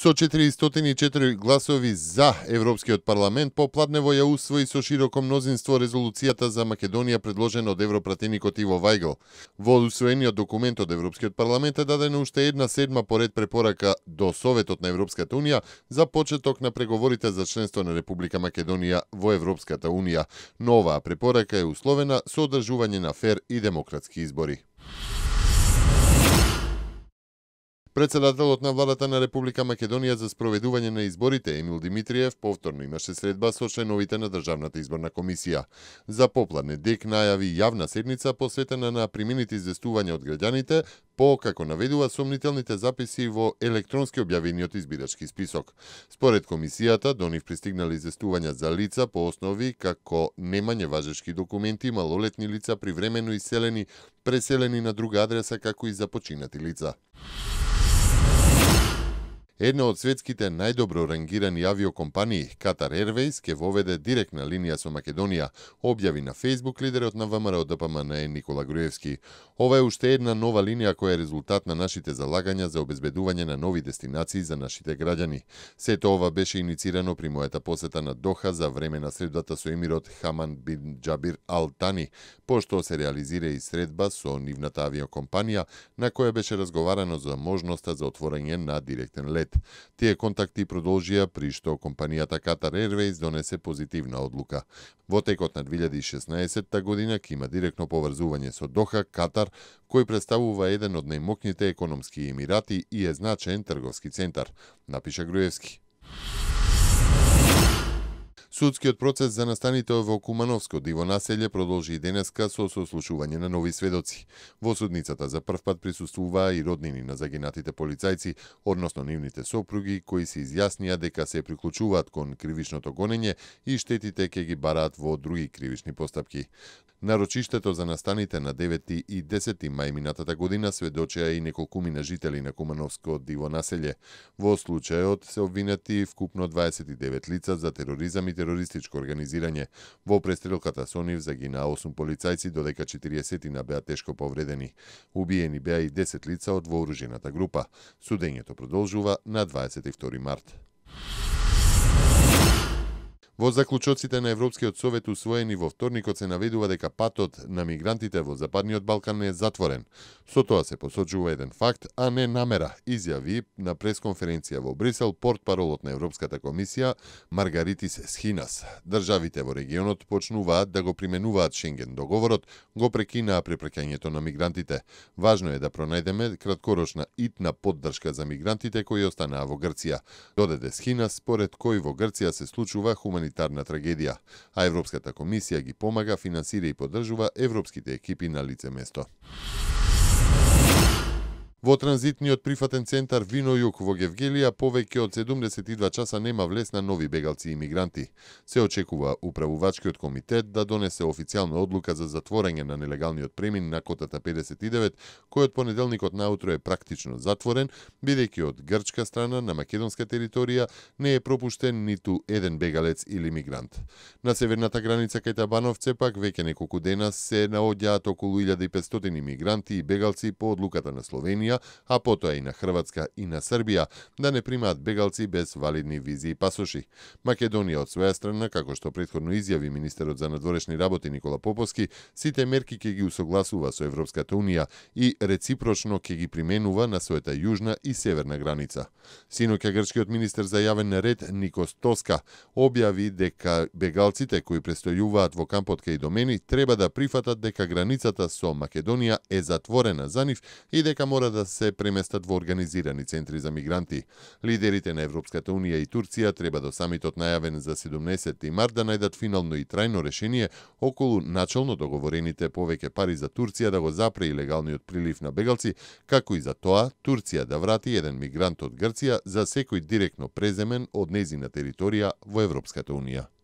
Со 404 гласови за, Европскиот парламент попладнево ја усвои со широко мнозинство резолуцијата за Македонија предложена од европратеникот Иво Вајгл. Во усвоениот документ од Европскиот парламент е дадена уште една седма поред препорака до Советот на Европската Унија за почеток на преговорите за членство на Република Македонија во Европската Унија. Но оваа препорака е условена со одржување на фер и демократски избори. Председателот на владата на Република Македонија за спроведување на изборите Емил Димитриев повторно имаше средба со членовите на Државната изборна комисија. За попладне ДЕК најави јавна седница посветена на примените известувања од граѓаните по, како наведува, сомнителните записи во електронски објавениот избирачки список. Според комисијата, до нив пристигнали известувања за лица по основи како немање важечки документи, малолетни лица привремено иселени, преселени на друга адреса, како и за починати лица. Една од светските најдобро рангирани авиокомпании, Qatar Airways, ке воведе директна линија со Македонија, објави на Facebook лидерот на ВМРО ДПМН Никола Груевски. Ова е уште една нова линија која е резултат на нашите залагања за обезбедување на нови дестинации за нашите граѓани. Сето ова беше иницирано при мојата посета на Доха за време на средбата со емирот Хаман бин Џабир Ал Тани, пошто се реализира и средба со нивната авиокомпанија, на која беше разговарано за можноста за отворање на директен лет. Тие контакти продолжија при што компанијата Qatar Airways донесе позитивна одлука. Во текот на 2016 година ќе има директно поврзување со Доха, Катар, кој представува еден од најмокните економски емирати и е значаен трговски центар, напиша Груевски. Судскиот процес за настаните во Кумановско диво населје продолжи и денеска со сослушување на нови сведоци. Во судницата за првпат присуствуваа и роднини на загинатите полицајци, односно нивните сопруги, кои се изјаснија дека се приклучуваат кон кривичното гонење и штетите ќе ги бараат во други кривични постапки. Нарочиштето за настаните на 9 и 10 мај минатата година сведочеа и неколкумина жители на Кумановско диво населје. Во случајот се обвинети вкупно 29 лица за тероризам и терористичко организирање. Во престрелката со нив загинаа 8 полицајци, додека 40 беа тешко повредени. Убиени беа и 10 лица од вооружената група. Судењето продолжува на 22 март. Во заклучоците на Европскиот совет усвоени во вторникот се наведува дека патот на мигрантите во Западниот Балкан е затворен. Со тоа се посочува еден факт, а не намера, изјави на пресконференција во Брисел портпаролот на Европската комисија Маргаритис Схинас. Државите во регионот почнуваат да го применуваат Шенген договорот, го прекинаа препраќањето на мигрантите. Важно е да пронајдеме краткорочна итна поддршка за мигрантите кои останаа во Грција. Додаде Схинас, според кој во Грција се случува хуманитарна трагедија, а Европската комисија ги помага, финансира и поддржува европските екипи на лице место. Во транзитниот прифатен центар Вино Југ во Гевгелија повеќе од 72 часа нема влез на нови бегалци и мигранти. Се очекува управувачкиот комитет да донесе официјална одлука за затворање на нелегалниот премин на котата 59, кој од понеделникот наутро е практично затворен, бидејќи од грчка страна на македонска територија не е пропуштен ниту еден бегалец или мигрант. На северната граница кај Табановце пак веќе неколку дена се наоѓаат околу 1500 мигранти и бегалци по одлуката на Словенија, а потоа и на Хрватска и на Србија, да не примаат бегалци без валидни визи и пасоши. Македонија од своја страна, како што претходно изјави министерот за надворешни работи Никола Поповски, сите мерки ќе ги усогласува со Европската Унија и реципрочно ќе ги применува на својата јужна и северна граница. Синоќа грчкиот министер за јавен ред Никос Тоска објави дека бегалците кои престојуваат во кампот кај Домени треба да прифатат дека границата со Македонија е затворена за нив и дека мора да се преместат во организирани центри за мигранти. Лидерите на Европската Унија и Турција треба до самитот најавен за 17 март да најдат финално и трајно решение околу начално договорените повеќе пари за Турција да го запре илегалниот прилив на бегалци, како и за тоа Турција да врати еден мигрант од Грција за секој директно преземен од нејзина територија во Европската Унија.